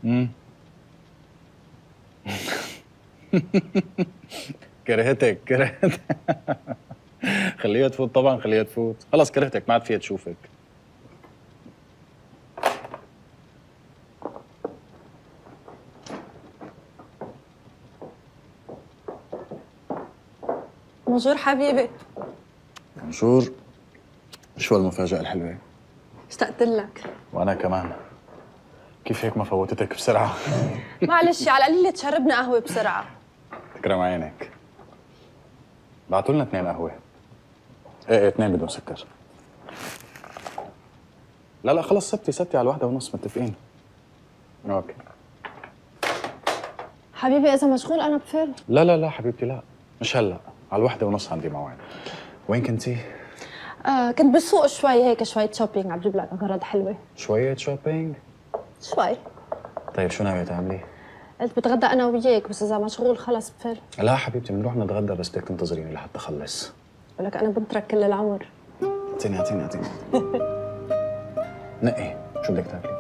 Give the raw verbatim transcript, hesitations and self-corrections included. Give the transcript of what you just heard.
امم كرهتك كرهتك خليها تفوت طبعا، خليها تفوت. خلص كرهتك، ما عاد فيها تشوفك. بونجور حبيبي. بونجور. شو هالمفاجأة الحلوة؟ اشتقت لك. وأنا كمان. كيف هيك ما فوتتك بسرعة؟ معلش على القليلة تشربنا قهوة بسرعة. تكرم عينك. بعتوا لنا اثنين قهوة. ايه ايه اثنين بدون سكر. لا لا خلص ستي ستي على الواحدة ونص متفقين. اوكي. حبيبي إذا مشغول أنا بفل. لا لا لا حبيبتي لا، مش هلا، على الواحدة ونص عندي موعد. وين كنتي؟ آه كنت بالسوق شوي هيك، شوية شوبينج، عم بجيب لك أغراض حلوة. شوية شوبينج؟ شوي. طيب شو ناوية تعملي؟ قلت بتغدى أنا وياك، بس إذا مشغول خلص بفل. لا حبيبتي بنروح نتغدى، بس بدك تنتظريني لحتى أخلص. ولك أنا بنترك كل العمر. اعطيني اعطيني اعطيني نقي، شو بدك تاكلي؟